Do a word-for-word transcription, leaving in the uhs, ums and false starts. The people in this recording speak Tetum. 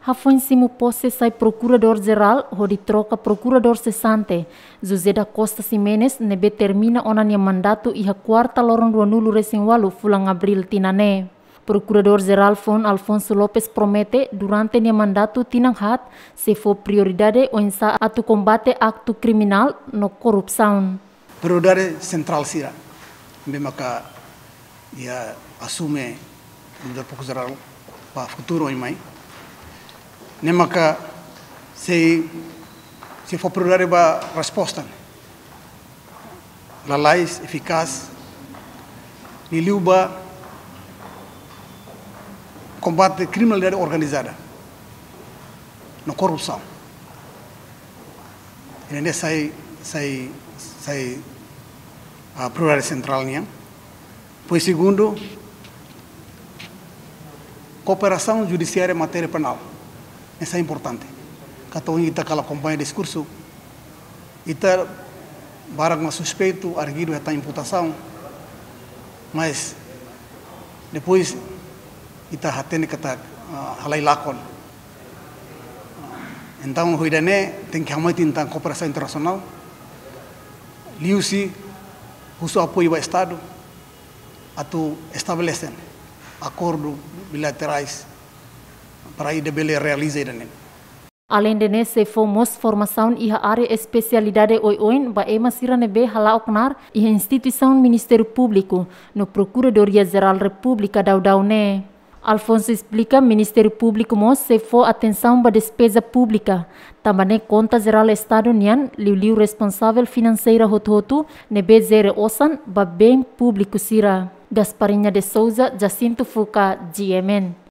Hafoin simu pose sai Prokuradór Jerál hodi troka Prokuradór sesante, José da Costa Ximenes, ne'ebé termina ona nia mandatu iha kuarta loron ruanulu-resin-ualu fulan Abríl tinan ne'e. Prokuradór Jerál foun Alfonso Lopes promete durante nia mandatu tinan haat sei fó prioridade oinsá atu kombate aktu kriminál no korrupsaun. Prioridade sentrál sira ne'ebé maka iha asume nu'udar Prokuradór Jerál ba futuru oin mai, ne'e maka sei, sei fó prioridade ba resposta ne'e lalais, efikás, liuliu ba kombate kriminalidade organizada no korrupsaun. Ida-ne'e sai, sai, sai, ah, prioridade sentrál nian. Depois segundu, kooperasaun judisiária matéria penál. Ne'e sai importante. Katak ohin ita kala akompaña diskursu, ita barak mak suspeitu, arguidu hetan imputasaun, mas depois ita hatene katak, ah, halai lakon. Entaun, ho ida-ne'e tenke hamoiti tan kooperasaun internasionál, liuhusi husu apoiu ba Estadu atu estabelese akordu bilaterais para ida bele realiza ida-ne'e. Aleinde ne'e, sei fó mós formasaun iha área espesialidade oioin ba ema sira ne'ebé hala'o knaar iha instituisaun Ministériu Públiku no Prokuradoria Jerál Repúblika daudaun ne'e. Alfonso esplika, Ministériu Públiku mós sei fó atensaun ba despeza públika, tanba ne'e Konta Jerál Estadu nian, liuliu responsavel finanseira hotu-hotu ne'ebé jere osan ba bem públiku sira. Gasparinha de Souza, Jacinto Fuca, G M N.